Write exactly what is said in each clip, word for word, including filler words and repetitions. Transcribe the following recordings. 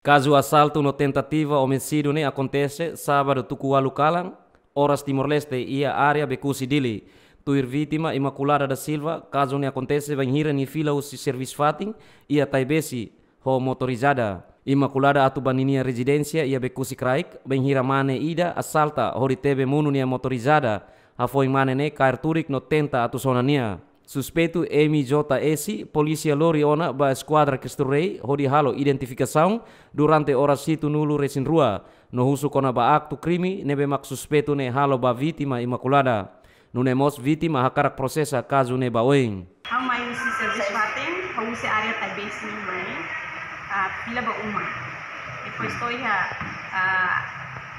Kazu asaltu no tentativa omisídiu ne'e akontese sábadu tuku ualu kalan, oras Timor-Leste, iha área Becusi, Dili. Tuir vítima Imaculada da Silva, kazu ne'e akontese bainhira nia fila husi servisu fatin iha Taibesi ho motorizada. Imaculada atu ba ninia rezidénsia iha Becusi kraik, bainhira mane ida asalta hodi tebe monu nia motorizada, hafoin mane ne'e kaer tudik no tenta atu sona nia. Suspeitu M J S polísia lori ona ba Eskuadra Cristo Rei hodi halo identifikasaun durante oras hitunulu resin rua, no husu kona-ba aktu krime ne'ebé mak suspeitu ne'e halo ba vítima Imaculada. Nune'e mós vítima hakarak prosesa kazu ne'e ba oin. Ha'u mai husi servisu fatin, ha'u husi área Taibesi mai, ah, fila ba uma. Depois to'o iha, ah,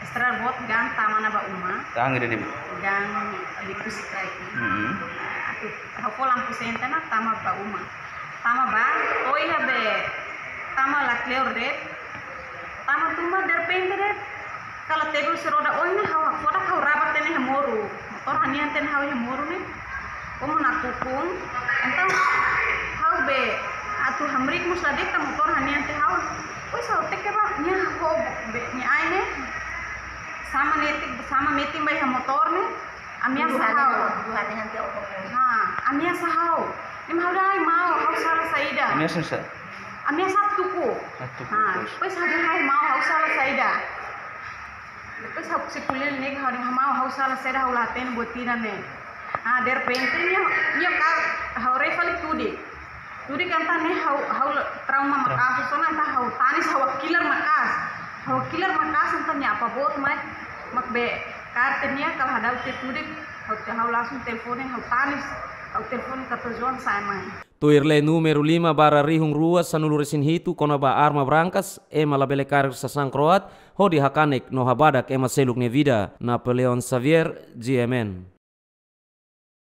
estrada boot gaan tama ona ba uma. Gaan ida-ne'e? Gaan Becusi kraik. Mm-mm. Ah, atu ha'u fó lampu senta ona tama ba uma. Tama ba, to'o iha be, tama la kleur de'it. Tama tun ba derrepente de'it, kala tebe husi roda oin ne'e ha'u hakfodak, ha'u raba tiha ona iha moru. Motór hanehan tiha ona ha'u iha moru ne'e. Komu nakukun. Entaun ha'u be atu hamriik mós la de'it, motór hanehan tiha ha'u. Depois ha'u teke ba, nia ho be, nia ain ne'e sama netik, sama metin ba iha motór ne'e. Ameasa ha'u. Dua hari nanti aku mau. Ha, ameasa ha'u. Ne'e mak ha'u dehan ai maun, ha'u sala saida. Ameasa sá? Ameasa tuku. Ah, tuku, ha, terus? Depois ha'u dehan ai maun, ha'u sala saida. Depois ha'u sei ko'alia ne'e, ha'u dehan maun, ha'u sala saida, ha'u la hatene buat ida ne'e. Ah, derrepente nia, nia ka, ha'u haree fali tudik. Tudik entaun ne'e ha'u, ha'u trauma maka'as, sona entaun ha'u tanis, ha'u hakilar maka'as. Ha'u hakilar maka'as entaun nia apa boot mai, mak be kaer tiha nia kala hadau tiha tudik, ha'u te, ha'u langsung telefone, ha'u tanis, ha'u telefone katuas-oan sa'e mai. Tuir lei númeru lima barra rihun rua sanulu resin hitu kona-ba arma brankas, ema labele kaer sasán kro'at hodi hakanek no habadak ema seluk nia vida. Napoleon Xavier, G M N.